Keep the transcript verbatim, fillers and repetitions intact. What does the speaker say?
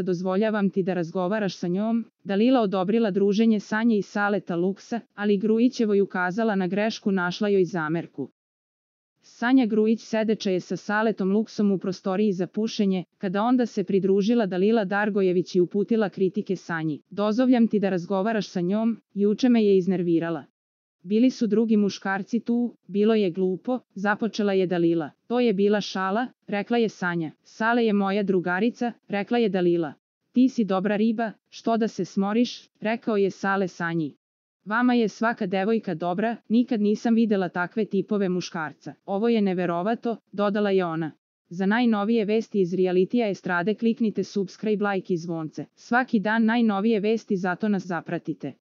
dozvoljavam ti da razgovaraš sa njom. Dalila odobrila druženje Sanje i Saleta Luksa, ali Grujićevoj ukazala na grešku, našla joj zamerku. Sanja Grujić sedeća je sa Saletom Luksom u prostoriji za pušenje, kada onda se pridružila Dalila Dargojević i uputila kritike Sanji. Dozvoljam ti da razgovaraš sa njom, juče me je iznervirala. Bili su drugi muškarci tu, bilo je glupo, započela je Dalila. To je bila šala, rekla je Sanja. Sale je moja drugarica, rekla je Dalila. Ti si dobra riba, što da se smoriš, rekao je Sale Sanji. Vama je svaka devojka dobra, nikad nisam videla takve tipove muškarca. Ovo je neverovato, dodala je ona. Za najnovije vesti iz realitija estrade kliknite subscribe, like i zvonce. Svaki dan najnovije vesti, zato nas zapratite.